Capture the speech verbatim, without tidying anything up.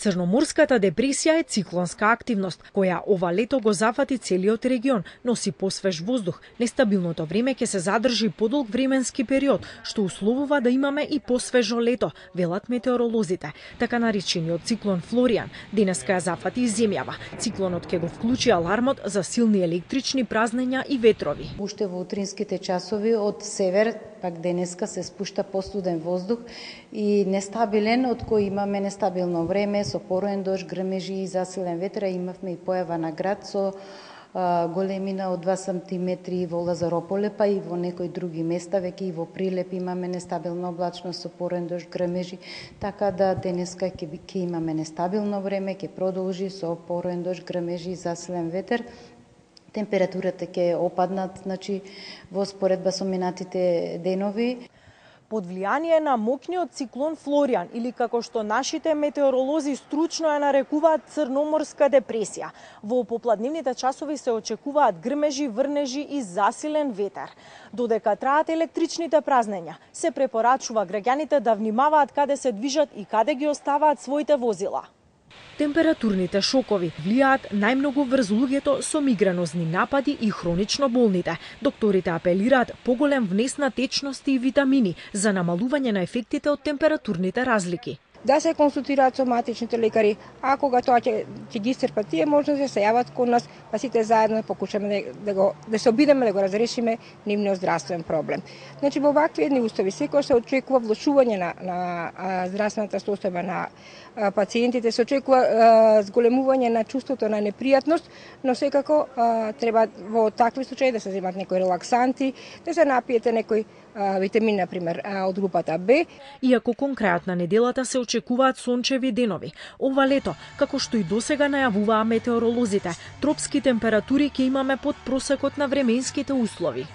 Црноморската депресија е циклонска активност, која ова лето го зафати целиот регион, носи посвеж воздух. Нестабилното време ќе се задржи подолг временски период, што условува да имаме и посвежо лето, велат метеоролозите. Така наречениот циклон Флориан денеска ја зафати земјава. Циклонот ќе го вклучи алармот за силни електрични празнења и ветрови. Уште во утринските часови од север, пак денеска се спушта постуден воздух и нестабилен, од кој имаме нестабилно време, со пороен дожд, грмежи и засилен ветер. Имавме и појава на град со а, големина од два сантиметри во Лазарополе, па и во некои други места, веќе и во Прилеп имаме нестабилна облачност со пороен дожд, грмежи, така да денеска ќе, ќе имаме нестабилно време, ќе продолжи со пороен дожд, грмежи и засилен ветер. Температурата ќе опаднат, значи, во споредба со минатите денови. Под влијание на моќниот циклон Флориан, или како што нашите метеоролози стручно ја нарекуваат црноморска депресија, во попладневните часови се очекуваат грмежи, врнежи и засилен ветер. Додека траат електричните празнења, се препорачува граѓаните да внимаваат каде се движат и каде ги оставаат своите возила. Температурните шокови влијаат најмногу врз луѓето со мигренозни напади и хронично болните. Докторите апелираат поголем внес на течности и витамини за намалување на ефектите од температурните разлики. Да се консултираат со матичните лекари, а кога тоа ќе, ќе ги исцрпат тие можности, се јават кон нас, па сите заедно покушаме да, да, го, да се обидеме да го разрешиме нивниот здравствен проблем. Значи, во вакви едни устави секој се очекува влошување на, на а, здравствената состојба на а, пациентите, се очекува а, зголемување на чувството на непријатност, но секако а, треба во такви случаи да се земат некои релаксанти, да се напиете некои витамин, например, од групата Б. Иако кон крајот на неделата се очекуваат сончеви денови, ова лето, како што и досега најавуваа метеоролозите, тропски температури ќе имаме под просекот на временските услови.